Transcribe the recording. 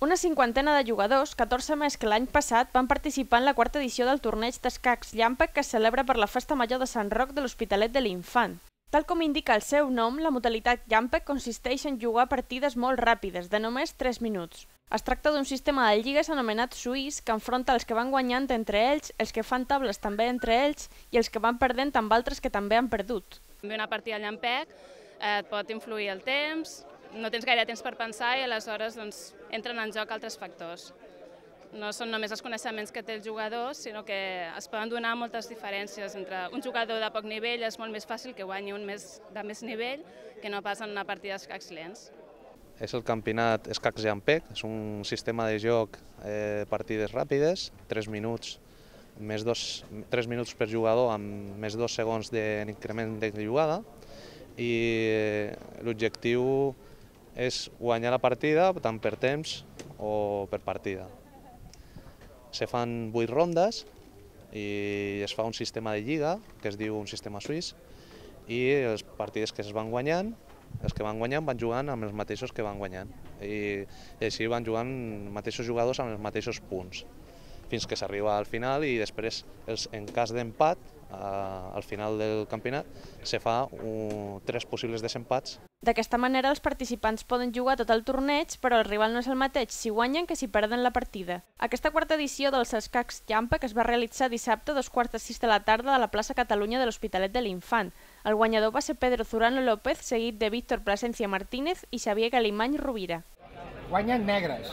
Una cinquantena de jugadors, 14 més que l'any passat, van participar en la quarta edició del torneig d'escacs Llampec que es celebra per la Festa Major de Sant Roc de l'Hospitalet de l'Infant. Tal com indica el seu nom, la modalitat Llampec consisteix en jugar partides molt ràpides, de només 3 minuts. Es tracta d'un sistema de lligues anomenat suís que enfronta els que van guanyant entre ells, els que fan tables també entre ells i els que van perdent amb altres que també han perdut. Una partida al Llampec et pot influir el temps, no tens gaire temps per pensar i aleshores entren en joc altres factors. No són només els coneixements que té el jugador, sinó que es poden donar moltes diferències. Entre un jugador de poc nivell és molt més fàcil que guanyi un de més nivell que no pas en una partida d'escacs lents. És el campionat Escacs Llampec, és un sistema de joc, partides ràpides, 3 minuts, 3 minuts per jugador amb més 2 segons d'increment de jugada, i l'objectiu és guanyar la partida tant per temps o per partida. Se fan 8 rondes i es fa un sistema de lliga, que es diu un sistema suís, i les partides que es van guanyant, els que van guanyant van jugant amb els mateixos que van guanyant. I així van jugant els mateixos jugadors amb els mateixos punts, fins que s'arriba al final i després, en cas d'empat, al final del campionat, se fa 3 possibles desempats. D'aquesta manera els participants poden jugar tot el torneig, però el rival no és el mateix si guanyen que si perden la partida. Aquesta quarta edició dels escacs Llampec es va realitzar dissabte a 5:45 de la tarda a la plaça Catalunya de l'Hospitalet de l'Infant. El guanyador va ser Pedro Zurano López, seguit de Víctor Plasencia Martínez i Xavier Galimany Rovira. Guanyen negres.